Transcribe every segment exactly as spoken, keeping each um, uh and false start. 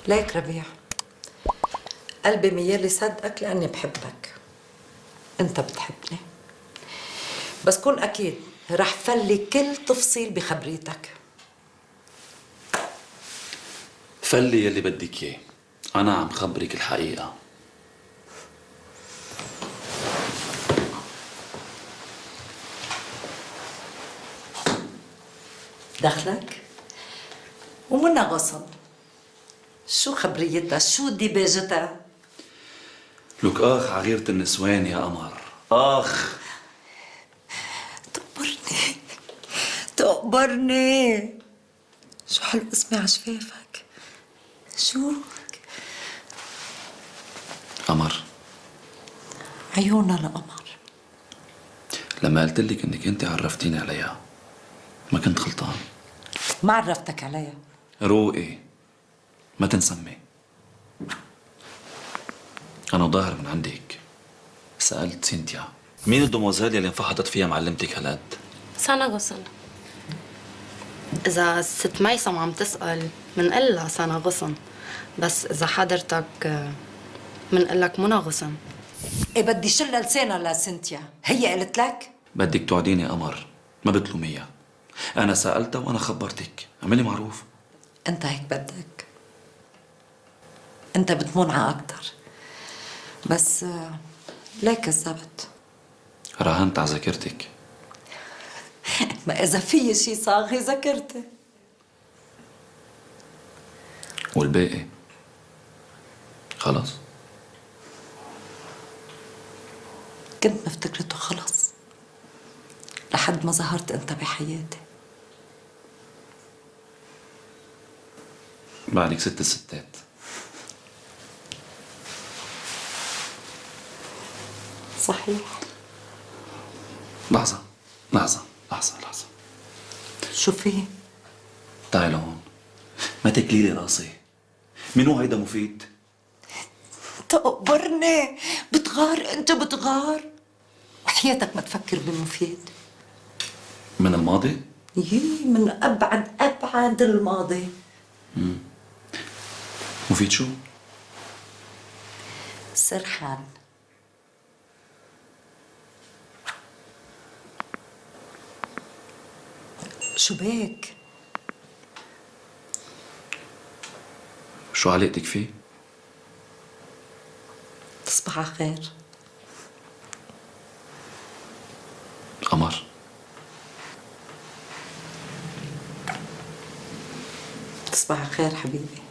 ليك ربيع، قلبي ميال يصدقك لأني بحبك. أنت بتحبني، بس كون أكيد رح فلي كل تفصيل بخبريتك. فلي يلي بدك اياه، أنا عم خبرك الحقيقة. دخلك؟ ومنها غصن. شو خبريتها؟ شو ديباجتها؟ لك آخ عغيرة النسوان يا قمر، آخ. تقبرني تقبرني. شو حلو اسمي على شفافك. شو؟ قمر. عيونها لقمر. لما قلت لك انك انت عرفتيني عليها ما كنت غلطان. ما عرفتك عليها. روقي، ما تنسمي. أنا ظاهر من عندك سألت سينتيا مين الدوموزيل اللي انفحطت فيها معلمتك هالقد؟ سنة غصن. إذا ست ميسم عم تسأل منقول لها سنة غصن، بس إذا حضرتك منقول لك منى غصن. إيه بدي شلها لسانها لسنتيا، هي قالت لك؟ بدك توعديني قمر، ما بتلوميها. أنا سألتها وأنا خبرتك، اعملي معروف. أنت هيك بدك. أنت بتمونعها أكتر، بس ليه كذبت؟ راهنت على ذاكرتك. ما إذا في شي صاغي ذاكرتي. والباقي خلص. كنت مفتكرته خلص لحد ما ظهرت أنت بحياتي. بعدك ست الستات. صحيح. لحظة لحظة لحظة لحظة. شو في؟ تعي لهون، ما تكلي لي راسي. منو هيدا مفيد؟ تقبرني، بتغار انت بتغار. وحياتك ما تفكر بمفيد. من الماضي؟ يي من ابعد ابعد الماضي. مم. مفيد شو؟ سرحان. شو بك؟ شو علاقتك فيه؟ تصبح على خير. قمر. تصبح على خير حبيبي.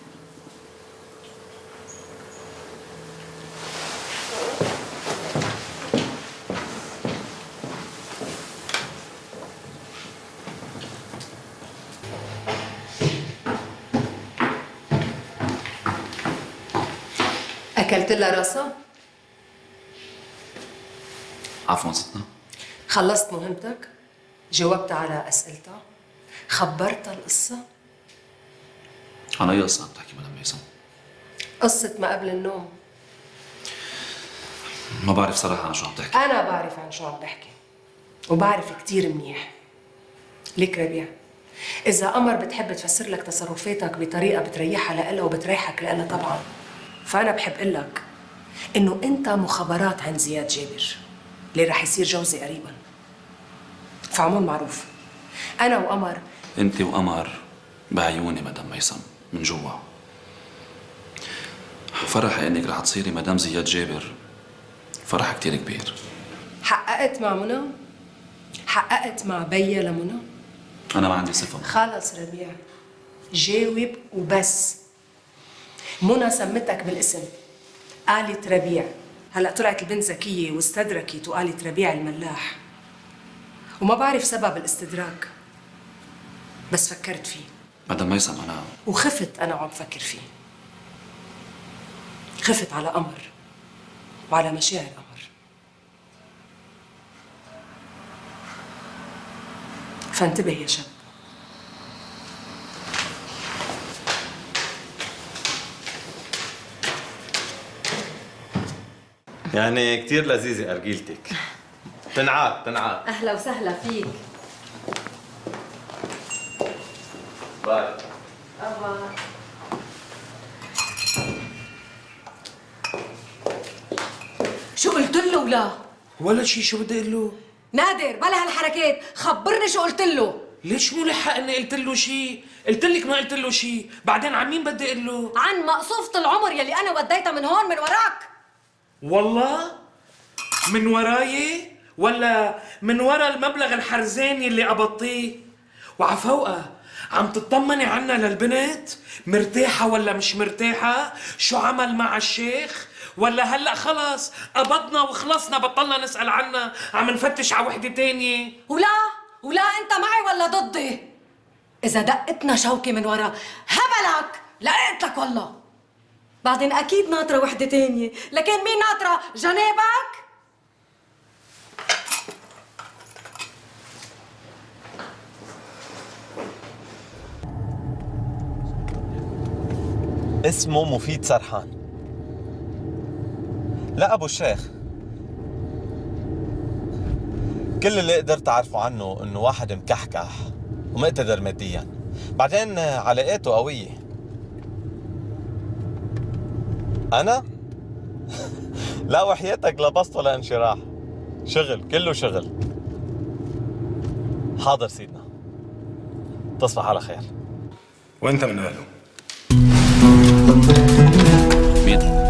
أكلت لها راسها؟ عفوا ستنا. خلصت مهمتك؟ جاوبت على أسئلتها؟ خبرتها القصة؟ عن أي قصة عم تحكي مدام ميسم؟ قصة ما قبل النوم. ما بعرف صراحة عن شو عم تحكي. أنا بعرف عن شو عم بحكي، وبعرف كتير منيح. ليك ربيع، إذا قمر بتحب تفسر لك تصرفاتك بطريقة بتريحها لإلها وبتريحك لإلها طبعاً، فأنا بحب أقول لك إنه أنت مخابرات عن زياد جابر اللي رح يصير جوزي قريباً. فعمول معروف، أنا وقمر. أنت وقمر بعيوني مدام ميسم من جوا. فرحي إنك رح تصيري مدام زياد جابر فرح كتير كبير. حققت مع منى؟ حققت مع بيا لمنى؟ أنا ما عندي صفة. خلص ربيع، جاوب وبس. منى سمتك بالاسم، قالت ربيع. هلا طلعت البنت ذكية واستدركت وقالت ربيع الملاح، وما بعرف سبب الاستدراك، بس فكرت فيه. مدام ميسم أنا وخفت أنا وعم فكر فيه. خفت على قمر وعلى مشاعر قمر. فانتبه يا شاب. يعني كتير لذيذة أرجيلتك. تنعاد تنعاد. أهلا وسهلا فيك. باي. أبا شو قلت له ولا؟ ولا شي. شو بدي اقول له؟ نادر بلا هالحركات، خبرني شو قلت له. ليش مو لحق اني قلت له شي؟ قلت لك ما قلت له شي، بعدين عن مين بدي اقول له؟ عن مقصوفة العمر يلي انا وديتها من هون من وراك. والله؟ من وراي؟ ولا من ورا المبلغ الحرزاني اللي قبضتيه؟ وعفوقها عم تطمني عنا للبنت؟ مرتاحة ولا مش مرتاحة؟ شو عمل مع الشيخ؟ ولا هلأ خلص قبضنا وخلصنا بطلنا نسأل عنها، عم نفتش على وحدة تانية؟ ولا ولا انت معي ولا ضدي؟ اذا دقتنا شوكة من ورا هبلك لقيت لك والله. بعدين اكيد ناطرة وحدة تانية، لكن مين ناطرة؟ جنابك؟ اسمه مفيد سرحان. لا أبو الشيخ، كل اللي قدرت أعرفه عنه إنه واحد مكحكح ومقتدر مادياً، بعدين علاقاته قوية. أنا؟ لا وحياتك لبسطه لانشراح، شغل كله شغل. حاضر سيدنا، تصبح على خير. وأنت من أهله؟ مين؟